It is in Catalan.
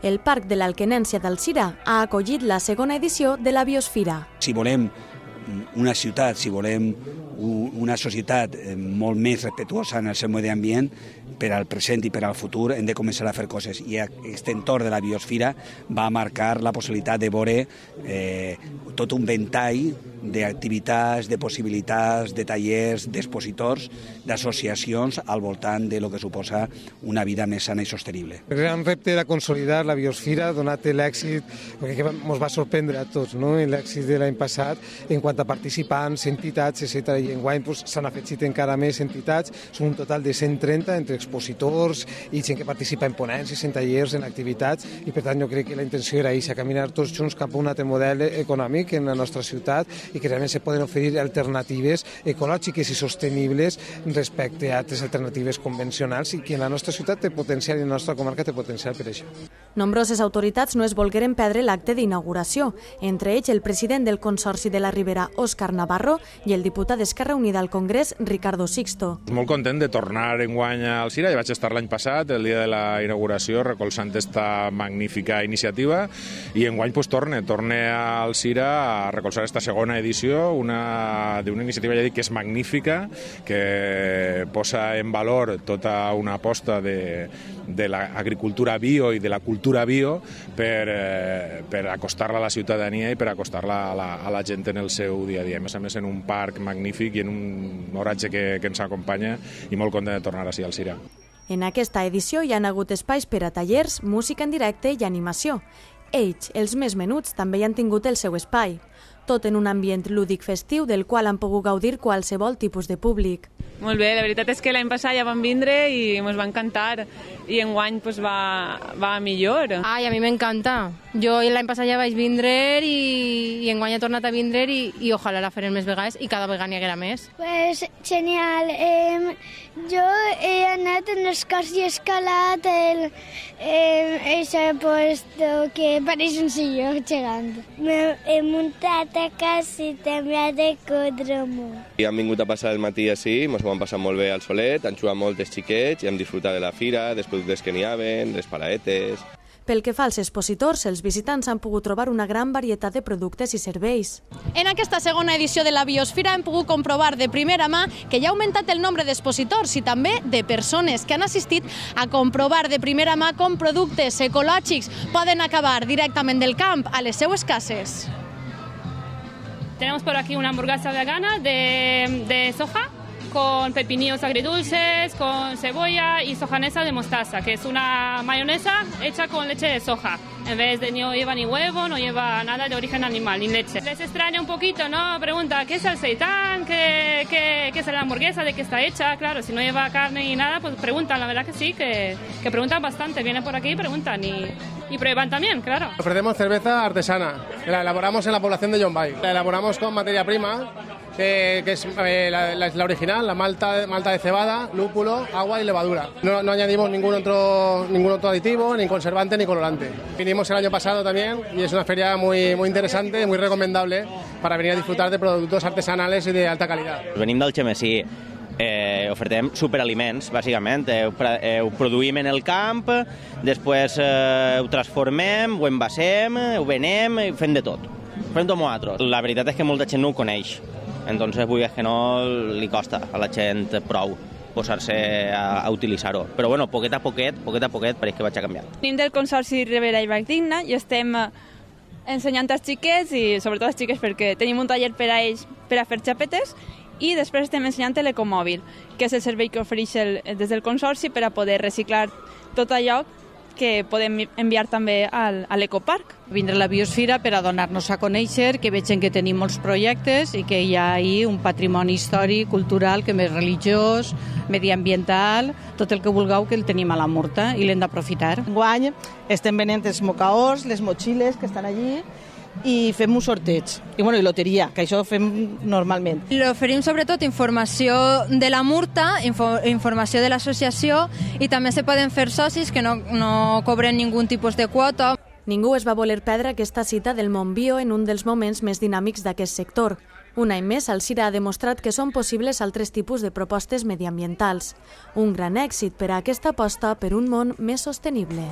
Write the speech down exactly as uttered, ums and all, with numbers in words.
El Parc de l'Alquenència d'Alzira ha acollit la segona edició de la Biosfira. Si volem una ciutat, si volem una societat molt més respectuosa en el seu medi ambient, per al present i per al futur hem de començar a fer coses. I aquest entorn de la Biosfira va marcar la possibilitat de veure eh, tot un ventall d'activitats, de possibilitats, de tallers, d'expositors, d'associacions al voltant de lo que suposa una vida més sana i sostenible. El gran repte era consolidar la Biosfira, donat l'èxit, que ens va sorprendre a tots, no? L'èxit de l'any passat en quant a participants, entitats, etcètera. I enguany s'han afegit encara més entitats, són un total de cent trenta entre expositors i gent que participa en ponències, en tallers, en activitats, i per tant jo crec que la intenció era això, caminar tots junts cap a un altre model econòmic en la nostra ciutat i que realment se poden oferir alternatives ecològiques i sostenibles respecte a altres alternatives convencionals i que en la nostra ciutat té potencial i en la nostra comarca té potencial per això. Nombroses autoritats no es volgueren perdre l'acte d'inauguració, entre ells el president del Consorci de la Ribera, Òscar Navarro, i el diputat d'Esquerra Unida al Congrés, Ricardo Sixto. Molt content de tornar enguany a Alzira, ja vaig estar l'any passat, el dia de la inauguració, recolzant esta magnífica iniciativa, i enguany pues, torne, torne a Alzira a recolzar esta segona edició, una d'una iniciativa, ja dic, que és magnífica, que posa en valor tota una aposta de, de l'agricultura bio i de la cultura bio per, eh, per acostar-la a la ciutadania i per acostar-la a, la, a la gent en el seu dia a dia. A més a més, en un parc magnífic i en un oratge que, que ens acompanya, i molt content de tornar així al Alzira. En aquesta edició hi ha hagut espais per a tallers, música en directe i animació. Ells, els més menuts, també hi han tingut el seu espai. Tot en un ambient lúdic festiu del qual han pogut gaudir qualsevol tipus de públic. Molt bé, la veritat és que l'any passat ja vam vindre i ens va encantar i enguany pues, va, va millor. Ai, a mi m'encanta. Jo l'any passat ja vaig vindre i, i enguany he tornat a vindre i, i ojalà la farem més vegades i cada vegada n'hi haguera més. Pues genial. Eh, jo he anat en els cors i he escalat el, eh, ese puesto que pareix un silló gegant. He muntat a casa i també a decodromo. I hem vingut a passar el matí així, ens ho hem passat molt bé al solet, han jugat molt els xiquets i hem disfrutat de la fira, dels productes que n'hi haven, les paraetes. Pel que fa als expositors, els visitants han pogut trobar una gran varietat de productes i serveis. En aquesta segona edició de la Biosfira hem pogut comprovar de primera mà que ja ha augmentat el nombre d'expositors i també de persones que han assistit a comprovar de primera mà com productes ecològics poden acabar directament del camp a les seues cases. Tenemos por aquí una hamburguesa vegana de, de soja, con pepinillos agridulces, con cebolla y sojanesa de mostaza, que es una mayonesa hecha con leche de soja. En vez de no lleva ni huevo, no lleva nada de origen animal, ni leche. Les extraña un poquito, ¿no? Pregunta, ¿qué es el seitán? ¿Qué, qué, qué es la hamburguesa? ¿De qué está hecha? Claro, si no lleva carne ni nada, pues preguntan, la verdad que sí, que, que preguntan bastante. Vienen por aquí y preguntan y, y prueban también, claro. Ofrecemos cerveza artesana, que la elaboramos en la población de Llombay. La elaboramos con materia prima, Eh, que es eh, la, la, la original, la malta, malta de cebada, lúpulo, agua y levadura. No, no añadimos ningún otro, ningún otro aditivo, ni conservante, ni colorante. Vinimos el año pasado también y es una feria muy, muy interesante, muy recomendable para venir a disfrutar de productos artesanales y de alta calidad. Venim del Xemessí. Eh, ofertem superaliments, bàsicament. Eh, ho produïm en el camp, després eh, ho transformem, ho envasem, ho venem, fem de tot. Fem tot nosaltres. La veritat és que molta gent no ho coneix. Entonces, vull dir que no li costa a la gent prou posar-se a, a utilitzar-ho. Però, bueno, poquet a poquet, poquet a poquet, pareix que vaig a canviar. Venim del Consorci Ribera i Valldigna i estem ensenyant als xiquets, i sobretot als xiquets perquè tenim un taller per a ells per a fer xapetes, i després estem ensenyant l'ecomòbil, que és el servei que ofereix el, des del Consorci per a poder reciclar tot allò que podem enviar també al, a l'ecoparc. Vindre a la Biosfira per a donar-nos a conèixer, que vegin que tenim molts projectes i que hi ha ahí un patrimoni històric, cultural, que més religiós, mediambiental, tot el que vulgueu que el tenim a la Murta i l'hem d'aprofitar. Enguany estem venent els mocaors, les motxilles que estan allí, i fem un sorteig, i, bueno, i loteria, que això ho fem normalment. L'oferim sobretot informació de la Murta, info, informació de l'associació, i també se poden fer socis que no, no cobren ningú tipus de quota. Ningú es va voler perdre aquesta cita del món bio en un dels moments més dinàmics d'aquest sector. Un any més, Alzira ha demostrat que són possibles altres tipus de propostes mediambientals. Un gran èxit per a aquesta aposta per un món més sostenible.